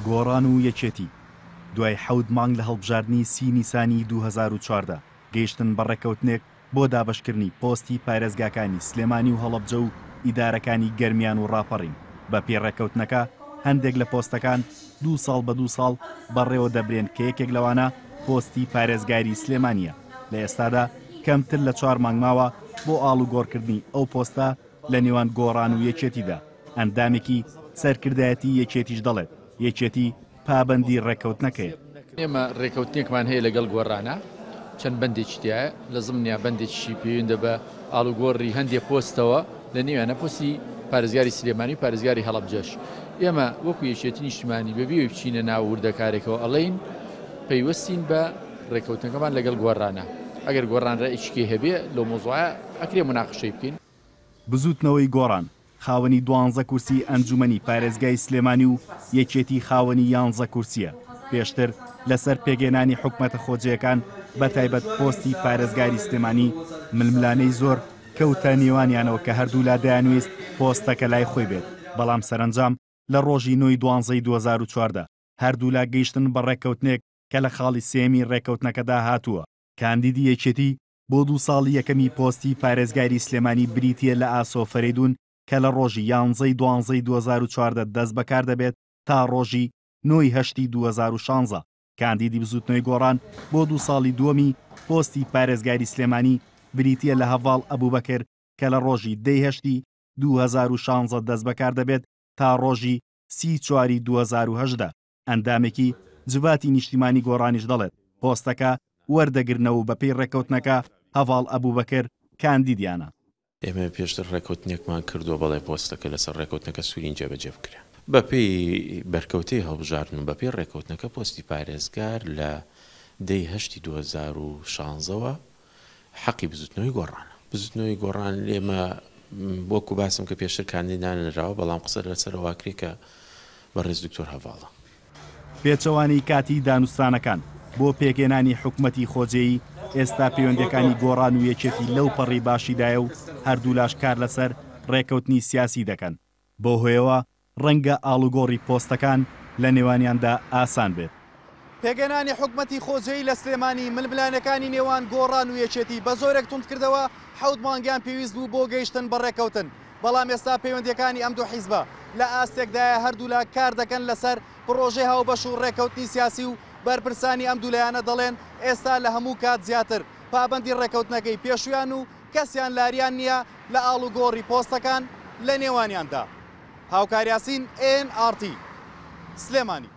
گۆڕان و یەکێتی دوای حەوت مانگ لە هەڵبژاردنی سی نیسانی 2014 گەیشتن بە ڕێککەوتنێک بۆ دابەشکردنی پۆستی پارێزگاکانی سلێمانی و هەڵەبجە و ئیدارەکانی گەرمیان و ڕاپەڕین، بەپێی ڕێککەوتنەکە هەندێک لە پۆستەکان دوو ساڵ بە دوو ساڵ بەڕێوە دەبرێن کە یەکێک لەوانە پۆستی پارێزگاری سلێمانییە، لە ئێستادا کەمتر لە چوار مانگ ماوە بۆ ئاڵوگۆڕکردنی ئەو پۆستە لە نێوان گۆڕان و یەکێتیدا، ئەندامێکی سەرکردایەتی یەکێتیش دەڵێت، یەکێتی پابەندی ڕێککەوتنەکەیە. ئێمە ڕێککەوتنێکمان هەیە لەگەڵ گۆڕانا، چەند بەندێکی تیایە، لە زمنیا بەندێکیشی پەیوەندە بە ئاڵوگۆڕی هەندێ پۆستەوە، لە نێویانە پۆستی پارێزگاری سلێمانی و پارێزگاری هەڵەبجەش. ئێمە وەکو یەکێتی نیشتیمانی بەبێ ئەوەی بچینە ناو وردەکارێکەوە ئەڵێین پەیوەستین بە ڕێککەوتنەکەمان لەگەڵ گۆڕانا. ئەگەر گۆڕان ڕەئیکی کەی هەبێ لەو مەوزوعە ئەکرێ موناقەشەی بکەین. بزووتنەوەی گۆڕان خاوەنی دوانزە کورسی ئەنجومەنی پارێزگای سلێمانی و یەکێتی خاوەنی یانزە کورسییە، پێشتر لەسەر پێکهێنانی حکومەتە خۆجێیەکان بەتایبەت پۆستی پارێزگاری سلێمانی ململانێی زۆر کەوتە نێوانیانەوە کە هەردوولا دەیانویست پۆستەکە لای خۆی بێت، بەڵام سەرەنجام لە ڕۆژی نۆی دوانزەی 2014 هەردوولا گەیشتن بە ڕێککەوتنێک کە لە خاڵی سێیەمی ڕێککەوتنەکەدا هاتووە، کاندیدی یەکێتی بۆ دوو ساڵی یەکەمی پۆستی پارێزگاری سلێمانی بریتییە لە ئاسۆ فەرەیدوون کە لە ڕۆژی یانزەی دوانزەی 2014 دەست بەکار دەبێت تا ڕۆژی نۆی هەشتی 2016. کاندیدی بزووتنەوەی گۆڕان بۆ دوو ساڵی دووەمی پۆستی پارێزگاری سلێمانی بریتییە لە هەڤاڵ ئەبوبەکر کە لە ڕۆژی دەی هەشتی 2016 دەست بەکار دەبێت تا ڕۆژی سی چواری 2018. ئەندامێکی جڤاتی نیشتیمانی گۆڕانیش دەڵێت، پۆستەکە وەردەگرنەوە و بەپێی ڕێککەوتنەکە هەڤاڵ ئەبوبەکر کاندیدیانە. ئێمە پێشتر ڕێککەوتنێکمان کردووە، بەڵێ پۆستەکە لەسەر ڕێککەوتنەکە سوورین جێبەجێ بکرێ. بەپێی بەرکەوتەی هەڵبژاردن و بەپێی ڕێککەوتنەکە پۆستی پارێزگار لە دە ی هەشتی 2016 وە حەقی بزوتنەوەی گۆڕانە. بزوتنەوەی گۆڕان ئێمە وەکو باسم کە پێشتر کاندید دانەنراوە، بەڵام قسە لەسەر ئەوە ئەکرێ کە بەڕێز دکتۆر هەڤاڵە. پێچەوانەی کاتی دانوستانەکان بۆ پێکهێنانی حکومەتی خۆجێیی، ئێستا پەیوەندییەکانی گۆڕان و یەکێتی لەو پەڕی باشیدایە و هەردوولاش کار لەسەر ڕێککەوتنی سیاسی دەکەن، بەو هۆیەوە ڕەنگە ئاڵوگۆڕی پۆستەکان لە نێوانیاندا ئاسان بێت. پێکهێنانی حکومەتی خۆجێی لە سلێمانی ململانێکانی نێوان گۆڕان و یەکێتی بە زۆرێک توندکردەوە، حەوت مانگیان پێویست بوو بۆ گەیشتن بە ڕێککەوتن، بەڵام ئێستا پەیوەندییەکانی ئەم دوو حیزبە لە ئاستێکدایە هەردوولا کاردەکەن لەسەر پڕۆژەی هاوبەش و ڕێککەوتنی سیاسی و بەرپرسانی ئەم دوو لایەنە دەڵێن ئێستا لە هەموو کات زیاتر پابەندی ڕێککەوتنەکەی پێشوویان و کەسیان لاریان نییە لە ئاڵوگۆڕی پۆستەکان لە نێوانیاندا. هاوکار یاسین، ئێن ئاڕ تی، سلێمانی.